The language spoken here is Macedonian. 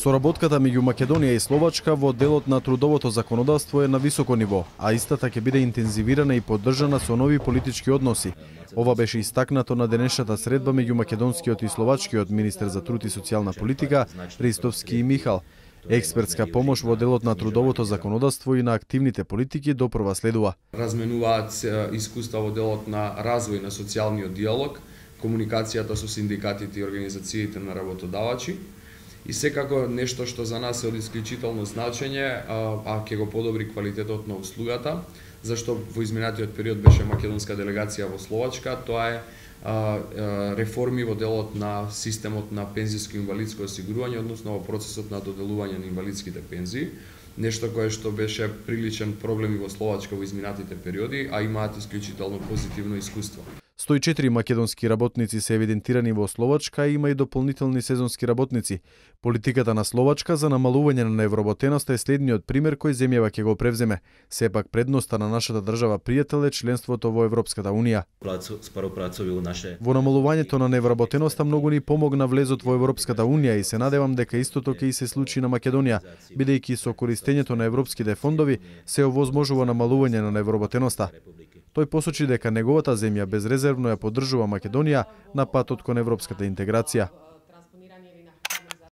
Соработката меѓу Македонија и Словачка во делот на трудовото законодавство е на високо ниво, а истата ќе биде интензивирана и поддржана со нови политички односи. Ова беше истакнато на денешната средба меѓу македонскиот и словачкиот министер за труд и социјална политика Ристовски и Михал. Експертска помош во делот на трудовото законодавство и на активните политики допрва следува. Разменуваат искуства во делот на развој на социјалниот диалог, комуникацијата со синдикатите и организациите на работодавачи. И секако нешто што за нас е од исклучително значење, а ќе го подобри квалитетот на услугата, зашто во изминатиот период беше македонска делегација во Словачка, тоа е реформи во делот на системот на пензиско и инвалидско осигурување, односно во процесот на доделување на инвалидските пензии, нешто кое што беше приличен проблем и во Словачка во изминатите периоди, а имаат исклучително позитивно искуство. 104 македонски работници се евидентирани во Словачка, има и дополнителни сезонски работници. Политиката на Словачка за намалување на невработеноста е следниот пример кој земјава ќе го превземе. Сепак предноста на нашата држава пријател е членството во Европската Унија. Во намалувањето на невработеноста многу ни помогна влезот во Европската Унија и се надевам дека истото ќе и се случи на Македонија, бидејќи со користењето на европските фондови се овозможува намалување на невработеноста. Тој посочи дека неговата земја безрезервно ја поддржува Македонија на патот кон европската интеграција.